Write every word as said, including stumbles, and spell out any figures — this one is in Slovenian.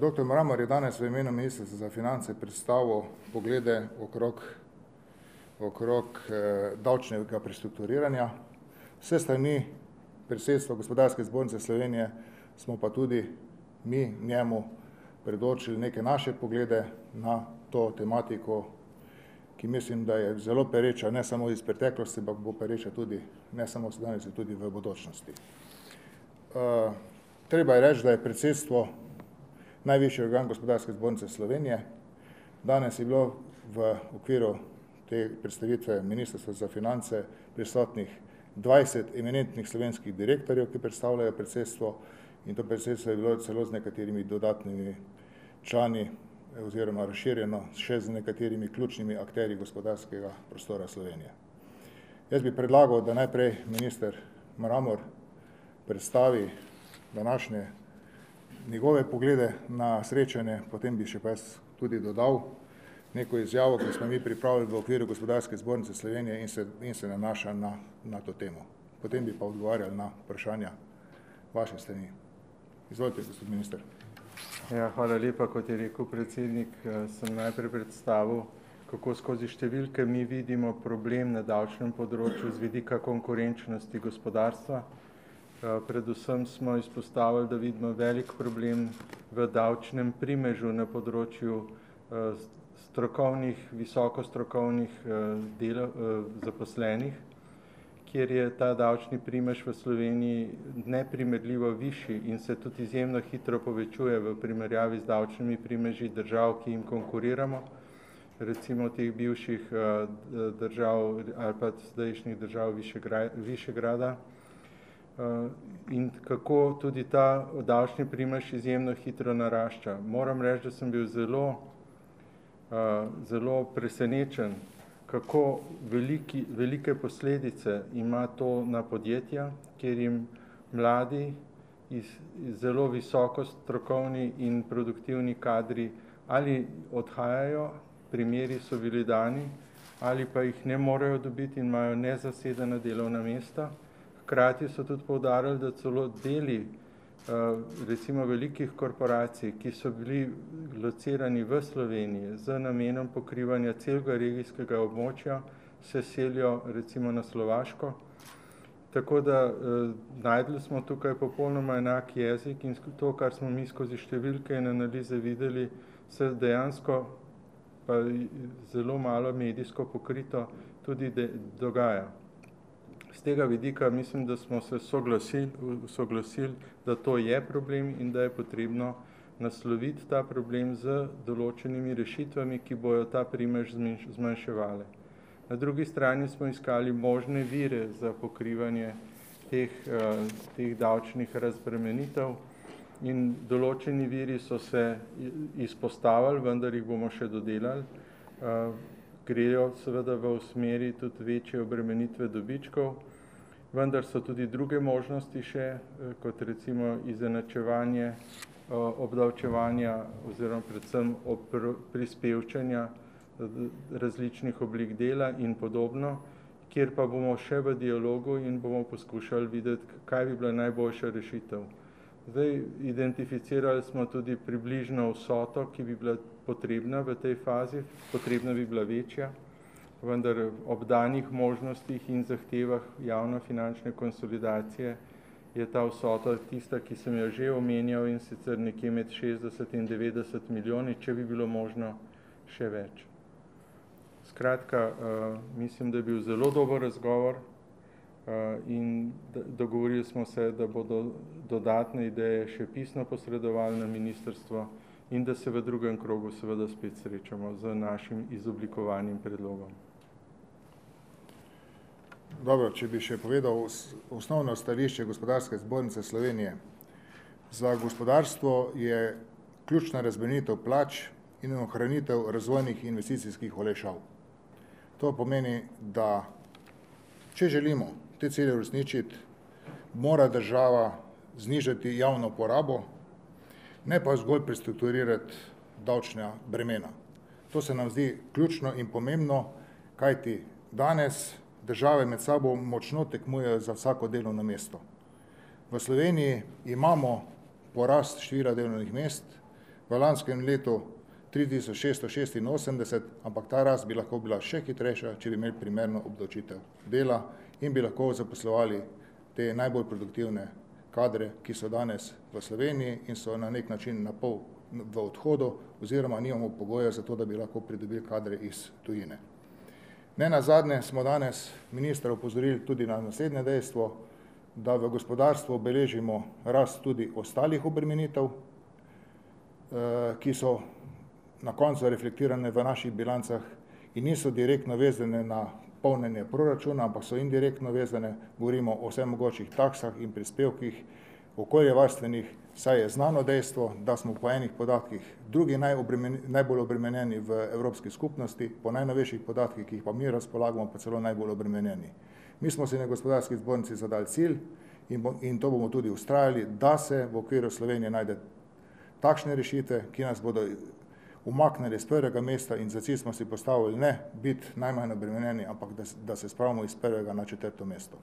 Doktor Mramor je danes v imenu Ministrstva za finance predstavil poglede okrog, okrog davčnega prestrukturiranja. Vse strani predsedstva Gospodarske zbornice Slovenije smo pa tudi mi njemu predočili neke naše poglede na to tematiko, ki mislim, da je zelo pereča, ne samo iz preteklosti, ampak bo pereča tudi, ne samo danes, tudi v bodočnosti. Treba je reči, da je predsedstvo najvišji organ Gospodarske zbornice Slovenije. Danes je bilo v okviru te predstavitve Ministrstva za finance prisotnih dvajset eminentnih slovenskih direktorjev, ki predstavljajo predsedstvo, in to predsedstvo je bilo celo z nekaterimi dodatnimi člani oziroma razširjeno še z nekaterimi ključnimi akterji gospodarskega prostora Slovenije. Jaz bi predlagal, da najprej minister Mramor predstavi današnje njegove poglede na srečanje, potem bi še pa jaz tudi dodal neko izjavo, ki smo mi pripravili v okviru Gospodarske zbornice Slovenije in se, in se nanaša na, na to temo. Potem bi pa odgovarjali na vprašanja vaše strani. Izvolite, gospod minister. Ja, hvala lepa, kot je rekel predsednik. Sem najprej predstavil, kako skozi številke mi vidimo problem na davčnem področju z vidika konkurenčnosti gospodarstva. Predvsem smo izpostavili, da vidimo velik problem v davčnem primežu na področju strokovnih, visokostrokovnih zaposlenih, kjer je ta davčni primež v Sloveniji neprimerljivo višji in se tudi izjemno hitro povečuje v primerjavi z davčnimi primeži držav, ki jim konkuriramo, recimo teh bivših držav ali pa zdajšnjih držav Višegrada. In kako tudi ta davčni primež izjemno hitro narašča. Moram reči, da sem bil zelo, zelo presenečen, kako veliki, velike posledice ima to na podjetja, kjer jim mladi, iz, iz zelo visoko strokovni in produktivni kadri ali odhajajo, primeri so bili dani, ali pa jih ne morejo dobiti in imajo nezasedena delovna mesta. Hkrati so tudi poudarili, da celo deli recimo velikih korporacij, ki so bili locirani v Sloveniji z namenom pokrivanja celega regijskega območja, se selijo recimo na Slovaško. Tako da najdli smo tukaj popolnoma enak jezik in to, kar smo mi skozi številke in analize videli, se dejansko pa zelo malo medijsko pokrito tudi dogaja. Z tega vidika mislim, da smo se soglasili, soglasili, da to je problem in da je potrebno nasloviti ta problem z določenimi rešitvami, ki bojo ta primež zmanjševale. Na drugi strani smo iskali možne vire za pokrivanje teh, teh davčnih razbremenitev in določeni viri so se izpostavili, vendar jih bomo še dodelali. Grejo seveda v smeri tudi večje obremenitve dobičkov, vendar so tudi druge možnosti še, kot recimo izenačevanje obdavčevanja oziroma predvsem prispevčanja različnih oblik dela in podobno, kjer pa bomo še v dialogu in bomo poskušali videti, kaj bi bila najboljša rešitev. Zdaj, identificirali smo tudi približno vsoto, ki bi bila potrebna v tej fazi, potrebna bi bila večja, vendar ob danih možnostih in zahtevah javnofinančne konsolidacije je ta vsota tista, ki sem jo že omenjal in sicer nekje med šestdeset in devetdeset milijoni, če bi bilo možno še več. Skratka, mislim, da je bil zelo dober razgovor in dogovorili smo se, da bodo dodatne ideje še pisno posredovali na ministrstvo in da se v drugem krogu seveda spet srečamo z našim izoblikovanim predlogom. Dobro, če bi še povedal osnovno stališče Gospodarske zbornice Slovenije. Za gospodarstvo je ključna razbremenitev plač in ohranitev razvojnih investicijskih olajšav. To pomeni, da če želimo te cilje uresničiti, mora država znižati javno porabo, ne pa zgolj prestrukturirati davčna bremena. To se nam zdi ključno in pomembno, kajti danes države med sabo močno tekmujejo za vsako delovno mesto. V Sloveniji imamo porast števila delovnih mest, v lanskem letu tri tisoč šeststo šestinosemdeset, ampak ta rast bi lahko bila še hitrejša, če bi imeli primerno obdavčitev dela in bi lahko zaposlovali te najbolj produktivne kadre, ki so danes v Sloveniji in so na nek način na pol v odhodu oziroma nimamo pogoja za to, da bi lahko pridobili kadre iz tujine. Ne nazadnje smo danes ministra opozorili tudi na naslednje dejstvo, da v gospodarstvu beležimo rast tudi ostalih obremenitev, ki so na koncu reflektirane v naših bilancah in niso direktno vezane na polnjenje proračuna, ampak so indirektno vezane, govorimo o vseh mogočih taksah in prispevkih, okoljevarstvenih, saj je znano dejstvo, da smo po enih podatkih drugi najbolj obremenjeni v Evropski skupnosti, po najnovejših podatkih, ki jih pa mi razpolagamo, pa celo najbolj obremenjeni. Mi smo si na Gospodarski zbornici zadali cilj in, bo, in to bomo tudi ustrajali, da se v okviru Slovenije najde takšne rešitve, ki nas bodo umaknili z prvega mesta in za cilj smo si postavili ne biti najmanj obremenjeni, ampak da, da se spravimo iz prvega na četrto mesto.